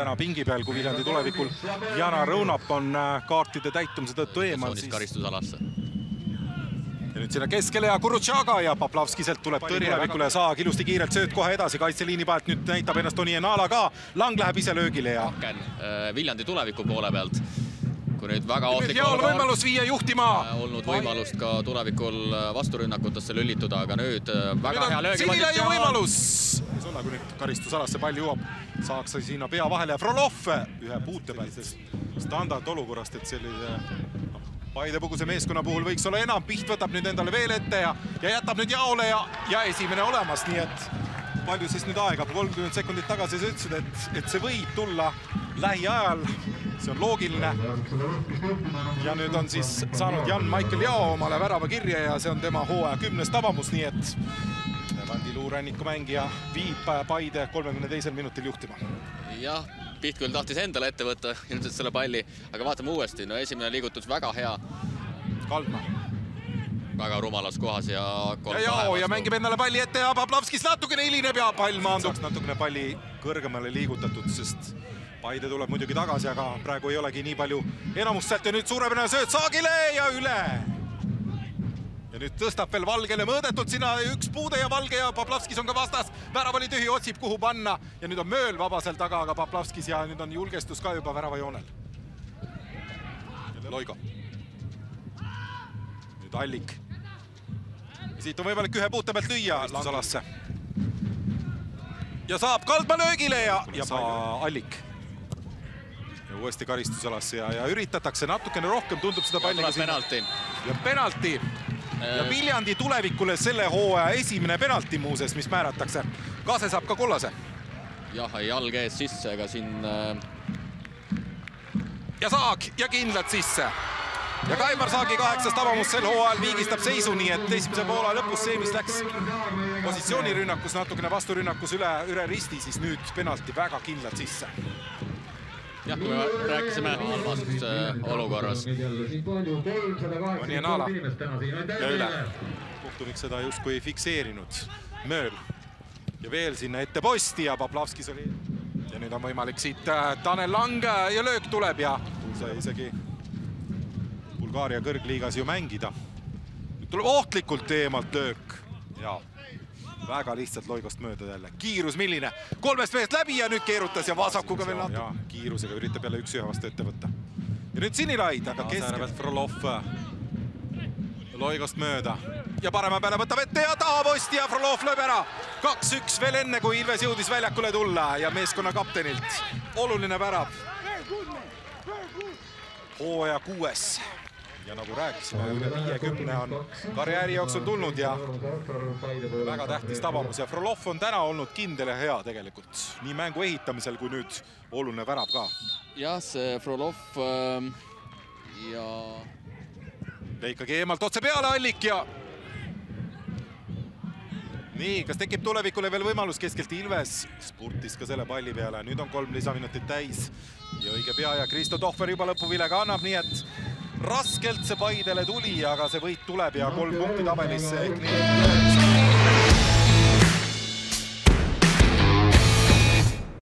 täna pingi peal, kui Viljandi tulevikul Jana Rõunap on kaartide täitumise tõttu eemal. Karistusalasse. Ja nüüd sinna keskele ja Kurutšaga ja Poplavskiselt tuleb tulevikule ja Saag ilusti kiirelt sööt kohe edasi kaitseliini pealt. Nüüd näitab ennast Toni Enala ka. Lang läheb ise löögile ja... Viljandi tuleviku poole pealt. Kui nüüd väga ohtlik võimalus viia juhtima. Olnud võimalust ka tulevikul vasturünnakutesse lüllituda, aga nüüd väga hea löögi. Sinile ju võimalus! Kui nüüd karistusalasse pall jõuab, saaks sinna pea vahele ja Frolov ühe puute pealt standard olukorrast, et sellise Paide-Puguse meeskonna puhul võiks olla enam. Piht võtab nüüd endale veel ette ja jätab nüüd jaole ja esimene olemas, nii et palju siis nüüd aega, 30 sekundit tagasi sa ütlesid, et see võib tulla lähiajal, see on loogiline. Ja nüüd on siis saanud Jan-Michael Jao omale värava kirja ja see on tema hooaja 10. tabamus, nii et Levandi luuränniku mängija viib Paide 32. minutil juhtima. Jah, Piht küll tahtis endale ette võtta ilmselt selle palli, aga vaatame uuesti. No esimene liigutus väga hea. Kaldma. Väga rumalas kohas ja... Ja mängib endale palli ette ja Poplavskis natukene hilineb ja pall maandub. Natukene palli kõrgemale liigutatud, sest Paide tuleb muidugi tagasi, aga praegu ei olegi nii palju enamust sealt ja nüüd suurepärane sööt Saagile ja üle. Ja nüüd tõstab veel Valgele mõõdetult sinna üks puude ja Valge ja Poplavskis on ka vastas. Värav oli tühi, otsib kuhu panna ja nüüd on Mööl vabasel taga, aga Poplavskis ja nüüd on julgestus ka juba värava joonel. Loigo. Nüüd Allik. Siit on võimalik ühe puute pealt lüüa Langsalasse. Ja saab Kaldma löögile ja Allik. Ja uuesti karistusalasse ja üritatakse natukene rohkem, tundub seda palliga siin. Ja penalti. Ja Viljandi tulevikule selle hooaja esimene penalti muuses, mis määratakse. Kase saab ka kollase. Jah, jalg ees sisse, aga siin... Ja Saag ja kindlad sisse. Ja Kaimar Saagi 8. tabamus sel hooajal viigistab seisu, nii et esimese poola lõpus see, mis läks positsioonirünnakus, natukene vasturünnakus üle risti, siis nüüd penalti väga kindlad sisse. Jah, kui me rääkisime halvast olukorras. Toni Enala ja üle. Kohtunik seda justkui ei fikseerinud. Mööl ja veel sinna ette posti ja Poplavskis oli. Ja nüüd on võimalik siit Tanel Lang ja löök tuleb ja sai isegi Bulgaaria kõrgliigas ju mängida. Nüüd tuleb ohtlikult eemalt löök ja väga lihtsalt Loigost mööda jälle. Kiirus milline? 3 meest läbi ja nüüd keerutas ja vasakuga veel natuke. Ja kiirusega üritab jälle üks ühe vastu ette võtta. Ja nüüd Sinilaid, aga keskelt Frolov Loigost mööda. Ja parema peale võtab ette ja tahaposti ja Frolov lööb ära. 2-1 veel enne, kui Ilves jõudis väljakule tulla ja meeskonna kaptenilt. Oluline värav. Hooaja 6. Ja nagu rääkisime, üle 50 on karjääri jooksul tulnud ja väga tähtis tabamus. Ja Frolov on täna olnud kindel ja hea tegelikult. Nii mängu ehitamisel kui nüüd oluline värav ka. Jah, see Frolov ja... Ikkagi eemalt otse peale Allik ja... Nii, kas tekib tulevikule veel võimalus keskelt Ilves? Spurtis ka selle palli peale. Nüüd on 3 lisaminutit täis ja õige pea ja Kristo Tohver juba lõpuvilega annab, nii et raskelt see Paidele tuli, aga see võit tuleb ja 3 punkti tabelisse ehk nii.